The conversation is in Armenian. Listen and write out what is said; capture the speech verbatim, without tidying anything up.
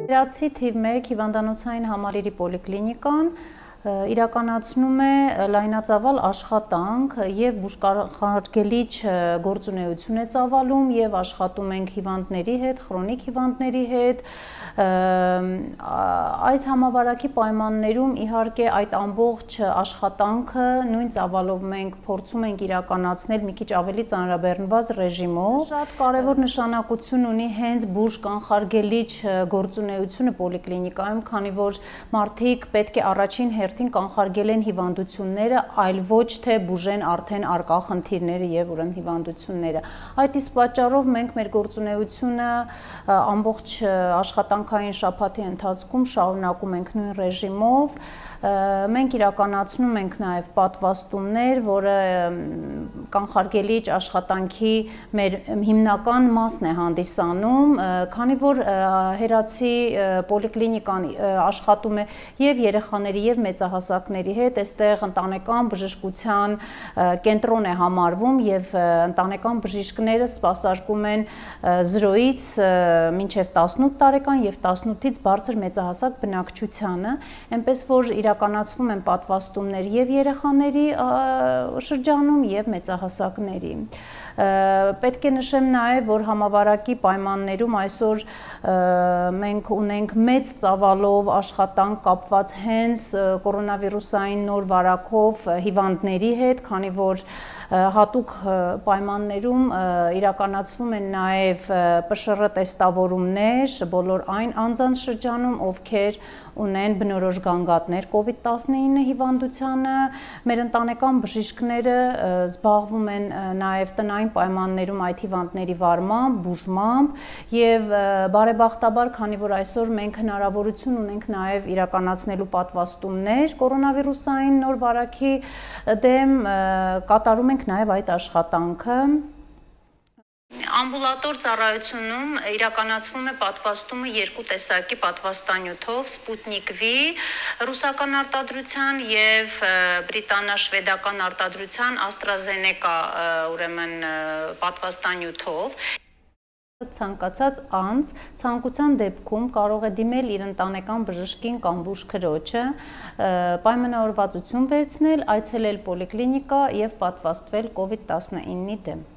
Իրացի թիվ մեկ հիվանդանոցային համալիրի պոլիկլինիկան իրականացնում է լայնածավալ աշխատանք եւ բուժկանխարգելիչ գործունեություն է ծավալում եւ աշխատում ենք հիվանդների հետ, քրոնիկ հիվանդների հետ։ Այս համավարակի պայմաններում իհարկե այդ ամբողջ աշխատանքը նույն ծավալով մենք փորձում ենք իրականացնել մի քիչ ավելի ծանրաբեռնված ռեժիմով։ Շատ կարեւոր նշանակություն ունի հենց բուժկանխարգելիչ գործունեությունը պոլիկլինիկայում, քանի որ մարդիկ պետք է առաջին հերթին կանխարգելեն հիվանդությունները, այլ ոչ թե բուժեն արդեն արկա խնդիրները եւ ուրեմն հիվանդությունները։ Այդ իսկ պատճառով մենք մեր գործունեությունը ամբողջ աշխատանքային շաբաթի ընթացքում շարունակում ենք նույն ռեժիմով։ Մենք իրականացնում ենք նաև պատվաստումներ, որը կանխարգելիչ աշխատանքի մեր հիմնական մասն է հանդիսանում, քանի որ Հերացի պոլիկլինիկան աշխատում է եւ երեխաների եւ մեծահասակների հետ, այստեղ ընտանեկան բժշկության կենտրոն է համարվում եւ ընտանեկան բժիշկները սպասարկում են զրոյից մինչեւ տասնութ տարեկան եւ տասնութից բարձր մեծահասակ բնակչությանը, այնպես որ իրականացվում են պատվաստումներ եւ երեխաների շրջանում եւ մեծահասակների։ Պետք է նշեմ նաեւ, որ համավարակի պայմաններում այսօր մենք ունենք մեծ ծավալով աշխատանք կապված հենց կորոնավիրուսային նոր վարակով հիվանդների հետ, քանի որ հատուկ պայմաններում իրականացվում են նաև ՊՇՌ տեստավորումներ բոլոր այն անձանց շրջանում, ովքեր ունեն բնորոշ գանգատներ կովիդ տասնինը հիվանդությանը, մեր ընտանեկան բժիշկները զբաղվում են նաև տնային պայմաններում այդ հիվանդների վարմամբ, բուժմամբ եւ բարեբախտաբար, քանի որ այսօր մենք հնարավորություն ունենք նաև իրականացնելու պատվաստումներ կորոնավիրուսային նոր վարակի դեմ, կատարում ենք նաև այդ աշխատանքը։ Ամբուլատոր ծառայությունում իրականացվում է պատվաստումը երկու տեսակի պատվաստանյութով՝ Սպուտնիկ V ռուսական արտադրության եւ բրիտանա-շվեդական արտադրության AstraZeneca ուրեմն պատվաստանյութով։ Ցանկացած անձ ցանկության դեպքում կարող է դիմել իր ընտանեկան բժշկին կամ բուժքրոջը, պայմանավորվածություն վերցնել, այցելել պոլիկլինիկա եւ պատվաստվել կովիդ տասնինի դեմ։